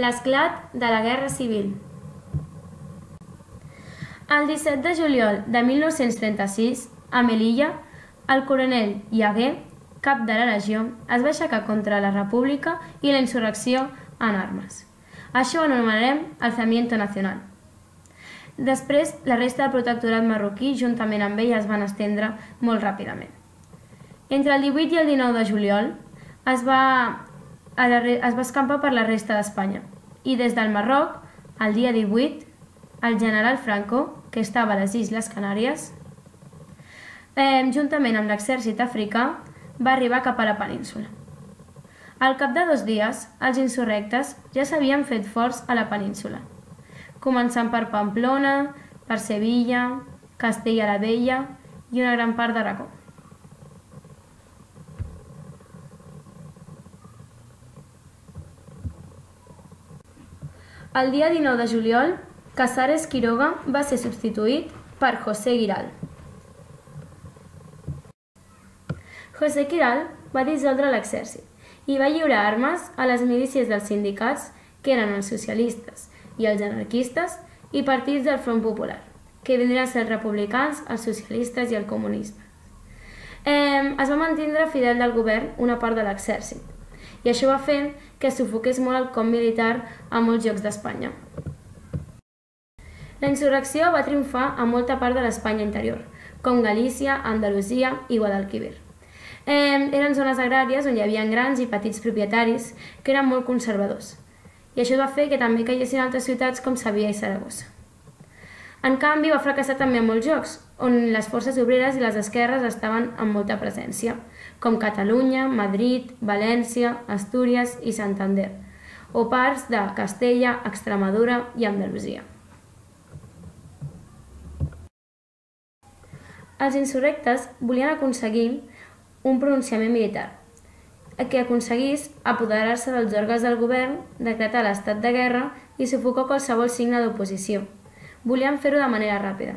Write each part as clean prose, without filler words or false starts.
L'esclat de la Guerra Civil. El 17 de juliol de 1936, a Melilla, el coronel Yagué, cap de la legió, es va aixecar contra la República i la insurrecció en armes. Això ho anomenarem alzamiento nacional. Després, la resta del protectorat marroquí, juntament amb ell, es van estendre molt ràpidament. Entre el 18 i el 19 de juliol es va escampar per la resta d'Espanya i des del Marroc, el dia 18, el general Franco, que estava a les Illes Canàries, juntament amb l'exèrcit africà, va arribar cap a la península. Al cap de 2 dies, els insurrectes ja s'havien fet forts a la península, començant per Pamplona, per Sevilla, Castella la Vella i una gran part d'Aragó. El dia 19 de juliol, Casares Quiroga va ser substituït per José Giral. José Giral va dissoldre l'exèrcit i va lliurar armes a les milícies dels sindicats, que eren els socialistes i els anarquistes, i partits del Front Popular, que vindrien a ser els republicans, els socialistes i el comunisme. Es va mantindre fidel del govern una part de l'exèrcit, i això va fer que sufoqués molt el cop militar a molts llocs d'Espanya. La insurrecció va triomfar a molta part de l'Espanya interior, com Galícia, Andalusia i Guadalquivir. Eren zones agràries on hi havia grans i petits propietaris que eren molt conservadors, i això va fer que també caiguessin altres ciutats com Sevilla i Saragossa. En canvi, va fracassar també a molts llocs, on les forces obreres i les esquerres estaven amb molta presència, com Catalunya, Madrid, València, Astúries i Santander, o parts de Castella, Extremadura i Andalusia. Els insurrectes volien aconseguir un pronunciament militar, que aconseguís apoderar-se dels òrgans del govern, decretar l'estat de guerra i sufocar qualsevol signe d'oposició. Volien fer-ho de manera ràpida,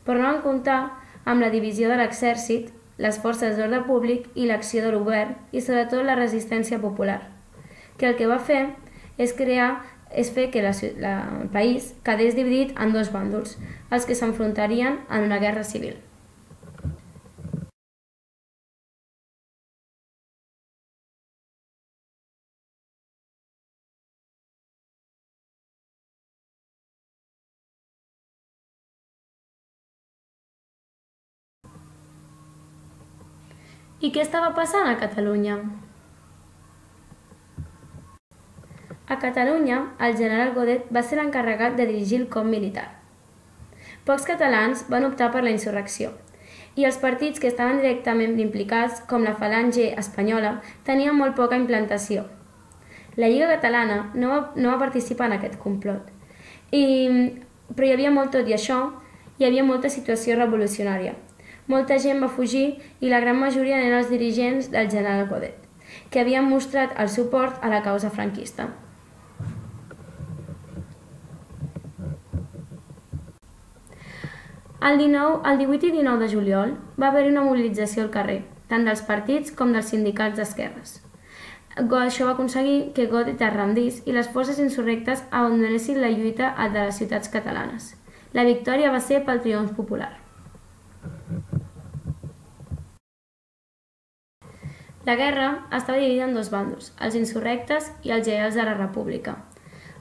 però no van comptar amb la divisió de l'exèrcit, les forces d'ordre públic i l'acció del govern i sobretot la resistència popular, que el que va fer és fer que el país quedés dividit en 2 bàndols, els que s'enfrontarien en una guerra civil. I què estava passant a Catalunya? A Catalunya, el general Godet va ser l'encarregat de dirigir el cop militar. Pocs catalans van optar per la insurrecció, i els partits que estaven directament implicats, com la Falange espanyola, tenien molt poca implantació. La Lliga Catalana no va participar en aquest complot, però hi havia tot i això, hi havia molta situació revolucionària. Molta gent va fugir i la gran majoria eren els dirigents del general Godet, que havien mostrat el suport a la causa franquista. El 18 i 19 de juliol va haver-hi una mobilització al carrer, tant dels partits com dels sindicats d'esquerres. Això va aconseguir que Godet es rendís i les forces insurrectes abandonessin la lluita de les ciutats catalanes. La victòria va ser pel triomf popular. La guerra estava dividida en 2 bàndols, els insurrectes i els lleials de la República.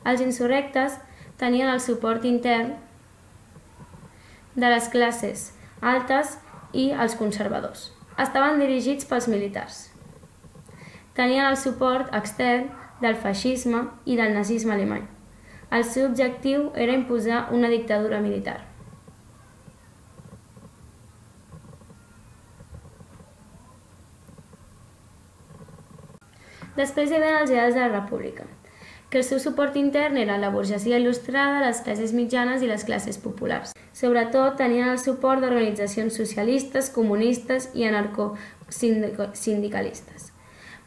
Els insurrectes tenien el suport intern de les classes altes i els conservadors. Estaven dirigits pels militars. Tenien el suport extern del feixisme i del nazisme alemany. El seu objectiu era imposar una dictadura militar. Després hi havia els lleials de la República, que el seu suport intern era la burgesia il·lustrada, les classes mitjanes i les classes populars. Sobretot tenien el suport d'organitzacions socialistes, comunistes i anarcosindicalistes.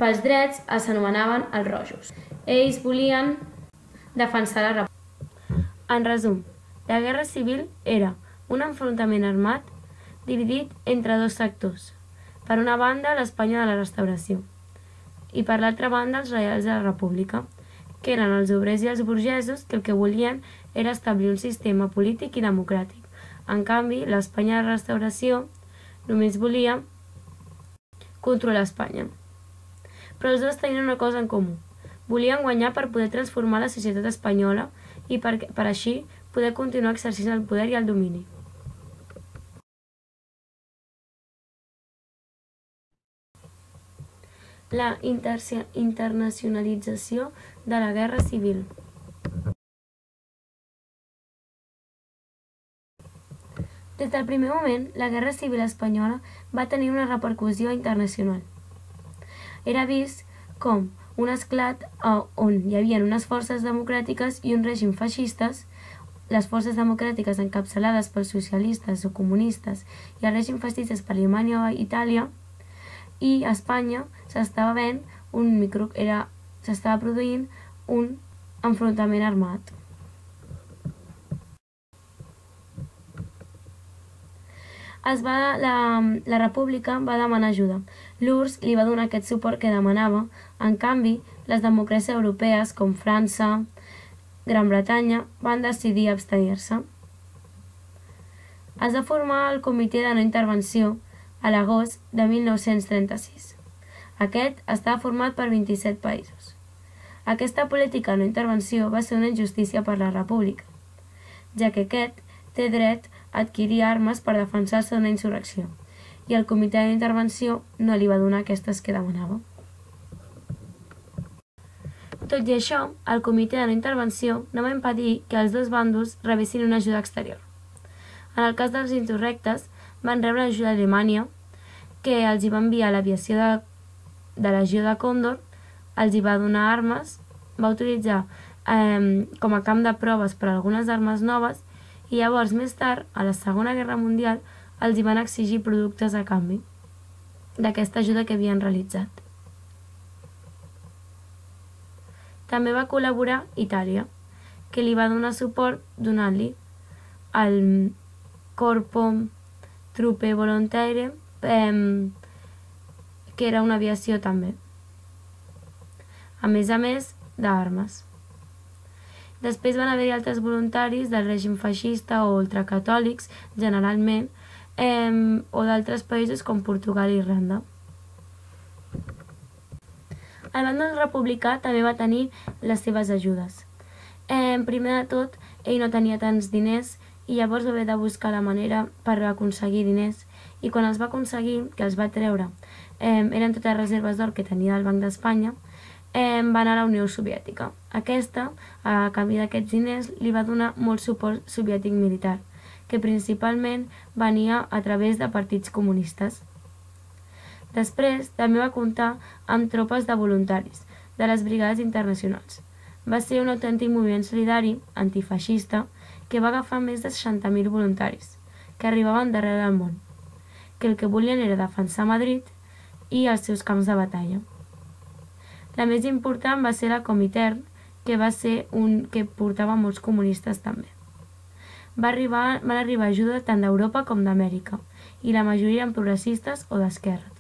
Pels drets els anomenaven els rojos. Ells volien defensar la República. En resum, la Guerra Civil era un enfrontament armat dividit entre 2 sectors. Per una banda, l'Espanya de la Restauració, i per l'altra banda els reials de la República, que eren els obrers i els burgesos, que el que volien era establir un sistema polític i democràtic. En canvi, l'Espanya de la Restauració només volia controlar Espanya. Però els dos tenien una cosa en comú. Volien guanyar per poder transformar la societat espanyola i per així poder continuar exercint el poder i el domini. La internacionalització de la Guerra Civil. Des del primer moment, la Guerra Civil espanyola va tenir una repercussió internacional. Era vist com un esclat on hi havia unes forces democràtiques i un règim feixistes, les forces democràtiques encapçalades pels socialistes o comunistes i el règim feixistes per Alemanya o Itàlia, i a Espanya s'estava produint un enfrontament armat. La República va demanar ajuda. L'URSS li va donar aquest suport que demanava. En canvi, les democràcies europees, com França, Gran Bretanya, van decidir abstenir-se. Es va formar el Comitè de No Intervenció a l'agost de 1936. Aquest estava format per 27 països. Aquesta política de no intervenció va ser una injustícia per la República, ja que aquest té dret a adquirir armes per defensar-se d'una insurrecció, i el Comitè de no Intervenció no li va donar aquestes que demanava. Tot i això, el Comitè de no Intervenció no va impedir que els dos bàndols rebessin una ajuda exterior. En el cas dels insurrectes, van rebre ajuda d'Alemanya, que els hi va enviar l'aviació de Legió de Còndor, els hi va donar armes, va utilitzar com a camp de proves per a algunes armes noves, i llavors, més tard, a la Segona Guerra Mundial, els hi van exigir productes a canvi d'aquesta ajuda que havien realitzat. També va col·laborar Itàlia, que li va donar suport donant-li el Corpo Truppe Volontarie, que era una aviació també, a més d'armes. Després van haver-hi altres voluntaris del règim feixista o ultracatòlics, generalment, o d'altres països com Portugal i Irlanda. El bàndol republicà també va tenir les seves ajudes. Primer de tot, ell no tenia tants diners i llavors va haver de buscar la manera per aconseguir diners, i quan els va aconseguir, que els va treure, eren totes reserves d'or que tenia del Banc d'Espanya, va anar a la Unió Soviètica. Aquesta, a canvi d'aquests diners, li va donar molt suport soviètic militar, que principalment venia a través de partits comunistes. Després, també va comptar amb tropes de voluntaris, de les brigades internacionals. Va ser un autèntic moviment solidari, antifeixista, que va agafar més de 60.000 voluntaris, que arribaven d'arreu del món, que el que volien era defensar Madrid i els seus camps de batalla. La més important va ser la Comintern, que va ser un que portava molts comunistes també. Van arribar ajuda tant d'Europa com d'Amèrica, i la majoria eren progressistes o d'esquerra.